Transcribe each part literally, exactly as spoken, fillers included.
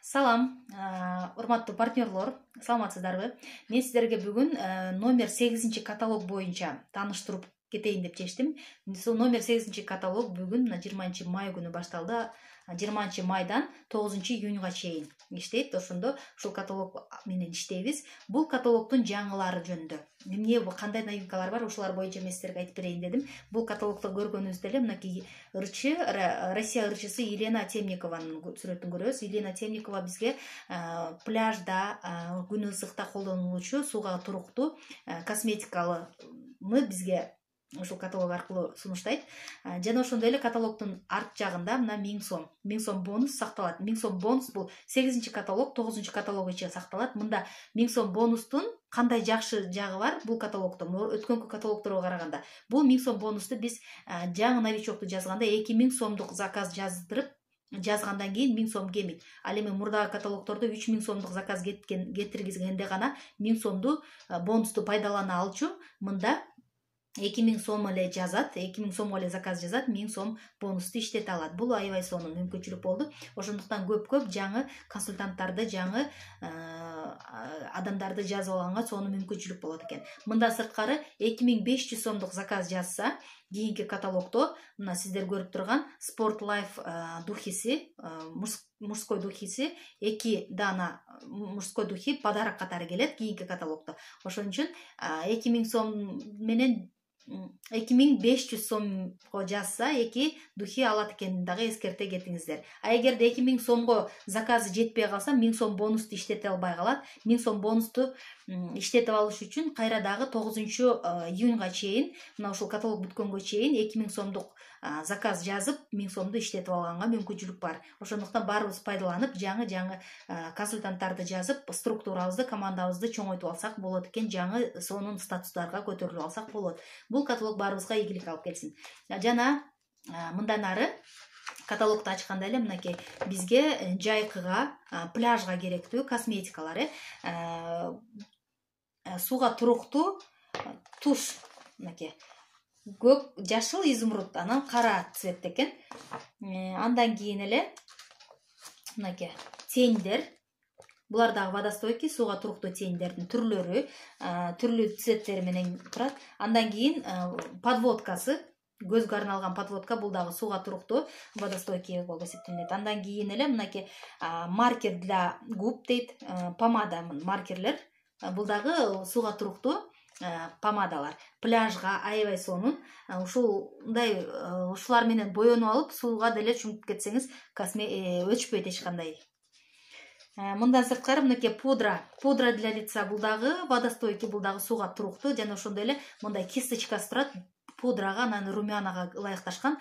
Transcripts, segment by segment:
Салам, урматтуу партнерлор, саламатсыздарбы? Мен сиздерге бүгүн номер сегизинчи каталог боюнча тааныштырып кетейин деп чечтим. Номер сегизинчи каталог бүгүн жыйырманчы май күнү башталды. жыйырманчы майдан тогузунчу июнга чейин иштейт. Ошондо ушул каталог менен иштейбиз. Бул каталогдун жаңылары жөнүндө эмне кандай новинкалар бар, ошолар боюнча мен сиздерге айтып берейин дедим. Бул каталогдо көргөнүңүздөй эле мынакей ырчы, Россия ырчысы Елена Темникованын сүрөтүн көрөбүз. Елена Темникова бизге пляжда, күн ысыкта колдонулуучу сууга туруктуу косметиканы бизге ушул каталог аркылуу сунуштайт. Жана ошондой эле каталогдун арт жагында мына миң сом, миң сом бонус сакталат. миң сом бонус бул сегизинчи каталог, тогузунчу каталогго чейин сакталат. Мында миң сом бонустун кандай жакшы жагы бар бул каталогдо, өткөнкү каталогдорго караганда. Бул миң сом бонусту биз жаңы новичокту жазганда эки миң сомдук заказ жаздырып, жазгандан кийин миң сом кемейт. Ал эми мурдагы каталогдордо үч миң сомдук заказ кеткен, кетиргизгенде гана миң сомду бонусту пайдалана алчу. Мында эки миң сом эле жазат, эки миң сомго эле заказ жазат, миң сом бонусту иштете алат. Бул аябай сонун мүмкүнчүлүк болду. Ошондуктан көп-көп жаңы консультанттарды, жаңы адамдарды жазып алганга сонун мүмкүнчүлүк болот экен. Мында сырткары эки миң беш жүз сомдук заказ жазса, кийинки каталогдо мына сиздер көрүп турган Sport Life духиси, мужской духиси, эки дана мужской духи подарок катары келет кийинки каталогдо. Ошон үчүн эки миң сом менен эки миң беш жүз сомго жазса, эки духи алат экенин дагы эскерте кетиңиздер. А эгерде эки миң сомго заказы жетпей калса, миң сом бонусту иштете албай калат. миң сом бонусту иштетип алыш үчүн кайра дагы тогузунчу июнга чейин, мына ушул каталог бүткөнгө чейин эки миң сомдук заказ жазып, миң сомду иштетип алганга мүмкүнчүлүк бар. Ошондуктан баарыбыз пайдаланып, жаңы-жаңы консультанттарды жазып, структурабызды, командабызды чоңойтуп алсак болот экен, жаңы сонун статустарга көтөрүлүп алсак болот. Бул каталог баарыбызга ийгилик алып келсин. Жана мындан ары каталогду ачканда эле мынакей бизге жайкыга, пляжга керектүү косметикалар, сууга туруктуу туш, мынакей көк, жашыл, изумруд, анан кара цветте экен. Андан кийин эле мынакей тендер. Булар дагы водостойкий, сууга туруктуу тендердин түрлөрү, түрлүү цветтери менен турат. Андан кийин подводкасы, көзгө арналган подводка, бул дагы сууга туруктуу водостойкий болуп эсептелет. Андан кийин эле мынакей маркер для губ дейт, помада маркерлер. Бул дагы сууга туруктуу помадалар. Пляжга аябай сонун. Ушундай ушулар менен боенуп алып, сууга деле чумуп кетсеңиз, өчпөйт эч кандай. Мындан сырткары мынакей пудра, пудра для лица, бул дагы водостойкий, бул дагы сууга туруктуу. Жана ошондой эле мындай кисточкасы турат. Пудрага, анан румянага ылайыкташкан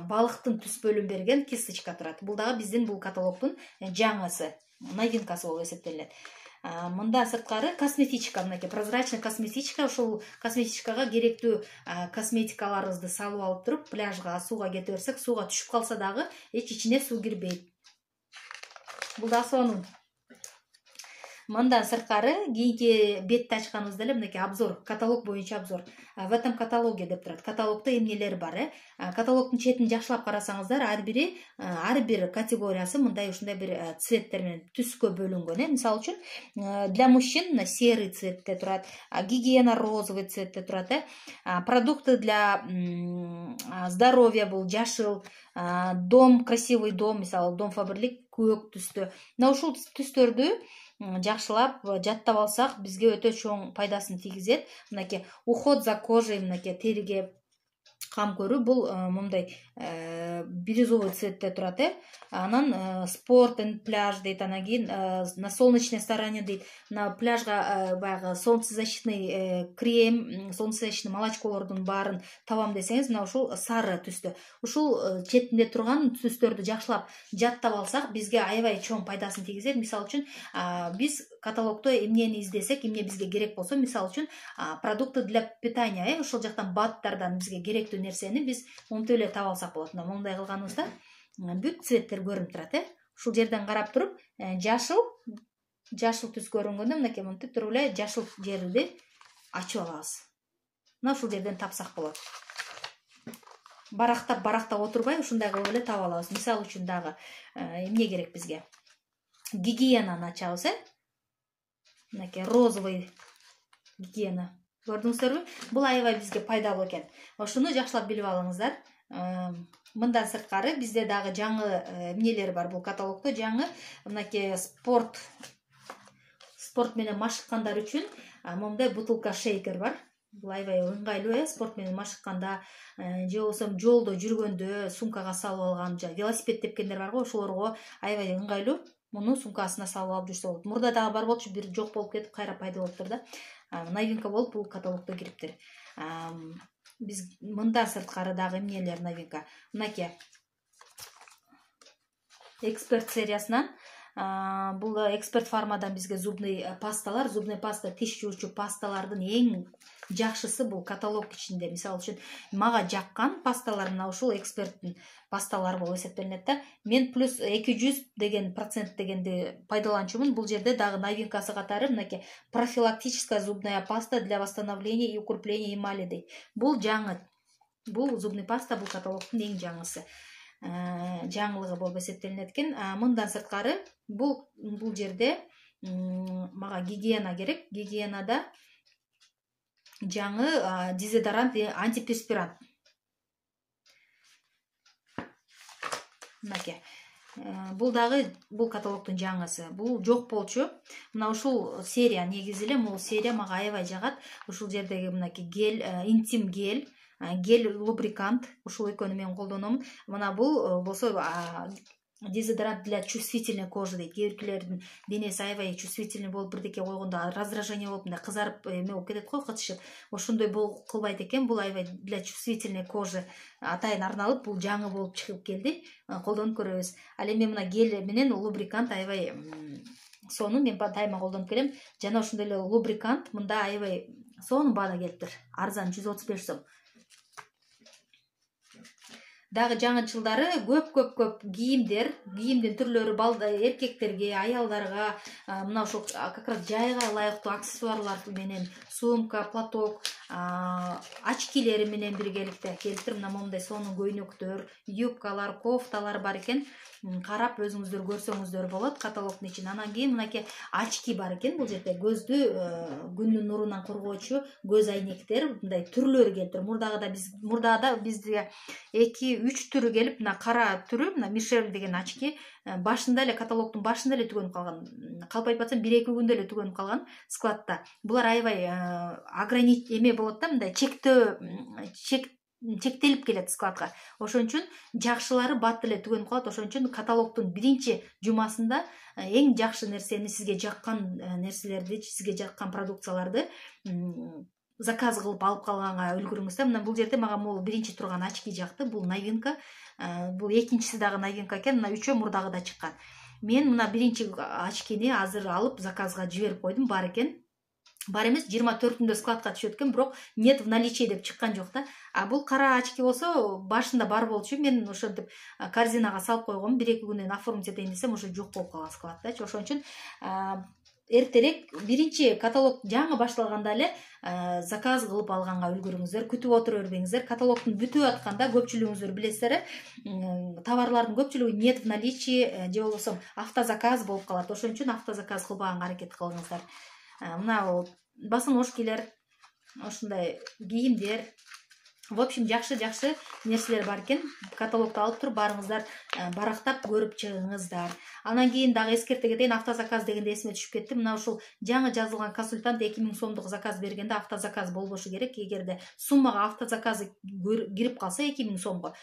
балыктын түс бөлүм берген кисточка турат. Бул дагы биздин бул каталогдун жаңысы, новинкасы болуп эсептелет. Мында сырткары косметичка, мынакей прозрачный косметичка. Ушул косметичкага керектүү косметикаларыбызды салып алып туруп, пляжга, сууга кете берсек, сууга түшүп калса дагы эч ичине суу кирбейт. Бул да сонун. Мындан сырткары кийинки бетти ачканыбызда эле мынакей обзор, каталог боюнча обзор. В этом каталоге деп турат. Каталогдо эмнелер бар, э? Каталогдун четин жакшылап карасаңыздар, ар бири, ар бир категориясы мындай ушундай бир цветтер менен түскө бөлүнгөн, э? Мисалы үчүн, для мужчин серый цветте турат, гигиена розовый цветте турат, э? Продукты для здоровья бул жашыл, дом, красивый дом, мисалы дом Фаберлик көк түстө. Мына ушул түстөрдү жакшылап жаттап алсак, бизге өтө чоң пайдасын тийгизет. Мынакей уход за кожей, мынакей териге кам көрүү, бул мындай бирюзовый цветте турат, э? Анан спорт and пляж дейт, анан кийин на солнечной стороне дейт. На пляжга баягы солнцезащитный крем, солнцезащитный молочколордун баарын табам десеңиз, мына ушул сары түстө. Ушул четинде турган түстөрдү жакшылап жаттап алсак, бизге аябай чоң пайдасын тийгизет. Мисалы үчүн, биз каталогдо эмнени издесек, эмне бизге керек болсо, мисалы үчүн, продукты для питания, э? Ушул жактан баттардан бизге керектүү нерсени биз монтип эле таба алсак болот. Мындай кылганыбызда бүт цветтер көрүнүп турат, э? Ушул жерден карап туруп, жашыл, жашыл түс көрүнгөндө мынакей монтип туруп эле жашыл жерди ачып алабыз. Мына ушул жерден тапсак болот. Барактап барактап отурбай ушундай кылып эле таба алабыз. Мисалы үчүн дагы эмне керек бизге? гигиенаны ачабыз, э? Мынакей розовый гигиена. Көрдүңүздөрбү? Бул аябай бизге пайдалуу экен. Ошону жакшылап билип алыңыздар. Мындан сырткары бизде дагы жаңы эмнелер бар бул каталогдо. Жаңы мынакей спорт спорт менен машыккандар үчүн момундай бутылка шейкер бар. Бул аябай ыңгайлуу, э, спорт менен машыкканда же болбосо жолдо жүргөндө сумкага салып алган, же велосипед тепкендер барго, ошолорго аябай ыңгайлуу. Муну сумкасына салып алып жүрсө болот. Мурда дагы бар болчу, бир жок болуп кетип, кайра пайда болуптур да. Новинка болуп бул каталогдо кириптир. Биз мындан сырткары дагы эмнелер новинка. Мынакей эксперт сериясынан бул эксперт фармадан бизге зубный пасталар, зубный паста, тиш жуучу пасталардын эң жакшысы бул каталог ичинде. Мисалы үчүн мага жаккан пасталар мына ушул эксперттин пасталары болуп эсептелинет да. Мен плюс эки жүз деген процент дегенди пайдаланчумун. Бул жерде дагы новинкасы катары мынакей профилактическая зубная паста для восстановления и укрепления эмали дейт. Бул жаңы. Бул зубный паста бул каталогдун эң жаңысы. Жаңылыгы болуп эсептелинет экен. Мындан сырткары бул бул жерде мага гигиена керек. Гигиенада жаңы дезодорант, антиперспирант. Мынакей. Бул дагы бул каталогдун жаңысы. Бул жок болчу. Мына ушул серия негизи эле бул серия мага аябай жагат. Ушул жердеги мынакей гель, интим гель, гель лубрикант, ушул экөөнү мен колдономун. Мына бул болсо дезодорант для чувствительной кожи дейт. Кээ биркилердин денеси аябай чувствительный болуп бирдеке койгондо раздражение болуп мындай кызарып эме болуп кетет го, кытышып. Ошондой болуп кылбайт экен. Бул аябай для чувствительной кожи атайын арналып, бул жаңы болуп чыгып келди. Колдонуп көрөбүз. Ал эми мына гель менен лубрикант аябай сону мен дайыма колдонуп келем. Жана ошондой эле лубрикант мында аябай сонун баада келиптир. Арзан жүз отуз беш сом. Дагы жаңычылдары көп көп көп кийимдер, кийимдин түрлөрү эркектерге, аялдарга, мына ушул как раз жайга ылайыктуу аксессуарлар менен сумка, платок, очкилери менен биргеликте келиптир. Мына момундай сонун көйнөктөр, юбкалар, кофталар бар экен. Карап өзүңүздөр көрсөңүздөр болот каталогдун ичин. Анан кийин мынакей очки бар экен. Бул жерде көздү күндүн нурунан коргоочу көз айнектер, мындай түрлөрү келиптир. Мурдагы да биз мурдада бизде эки үч түрү келип, мына кара түрү, мына Мишель деген очки башында эле каталогдун башында эле түгөнүп калган. Калпайып атсам бир эки күндө эле түгөнүп калган складта. Булар аябай ограничить эме болот да, мындай чектөө чек чектелип келет складка. Ошон үчүн жакшылары бат эле түгөнүп калат. Ошон үчүн каталогдун биринчи жумасында эң жакшы нерсени, сизге жаккан нерселерди, сизге жаккан продукцияларды заказ кылып алып калганга үлгүрүңүз да. Мына бул жерде мага могул биринчи турган очки жакты. Бул новинка. Бул экинчиси дагы новинка экен. Мына үчөө мурдагы да чыккан. Мен мына биринчи очкини азыр алып заказга жиберип койдум. Бар экен. Бар эмес, жыйырма төртүндө складка түшөт экен, бирок нет в наличии деп чыккан жок да. А бул кара очки болсо башында бар болчу. Мен ошентип корзинага салып койгом. бир эки күндөн оформить этейин десем, ошо жок болуп калган складдачы. Ошон үчүн эртерээк биринчи каталог жаңы башталганда эле заказ кылып алганга үлгүрүңүздөр, күтүп отура бербеңиздер. Каталогдун бүтүп атканда көпчүлүгүңүздөр билесиздер, товарлардын көпчүлүгү нет в наличии же болбосо автозаказ болуп калат. Ошон үчүн автозаказ кылбаганга аракет кылыңыздар. Мына басмошкилер, ушундай кийимдер, в общем жакшы-жакшы нерселер бар экен. Каталогду алып туруп барыңыздар, барактап көрүп чыгыңыздар. Анан кийин дагы эскерте кетейин, автозаказ дегенде эсиме түшүп кетти. Мына ушул жаңы жазылган консультант эки миң сомдук заказ бергенде автозаказ болбошу керек. Эгерде суммага автозаказы кирип калса эки миң сомго,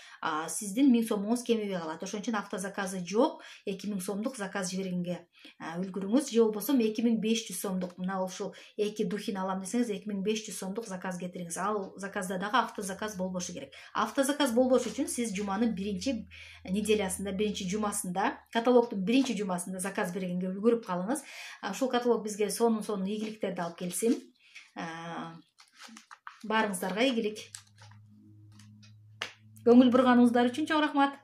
сиздин миң сомуңуз кемибей калат. Ошон үчүн автозаказы жок эки миң сомдук заказ жибергенге үлгүрүңүз. Же болбосо эки миң беш жүз сомдук, мына ушул эки духин алам десеңиз эки миң беш жүз сомдук заказ кетириңиз. Ал заказда дагы автозаказ болбошу керек. Автозаказ болбош үчүн сиз жуманын биринчи неделясында, биринчи жумасында, каталогдун биринчи жумасында заказ бергенге үлгүрүп калыңыз. Ушул каталог бизге сонун-сонун ийгиликтерди алып келсин. Баарыңыздарга ийгилик. Көңүл бурганыңыздар үчүн чоң рахмат.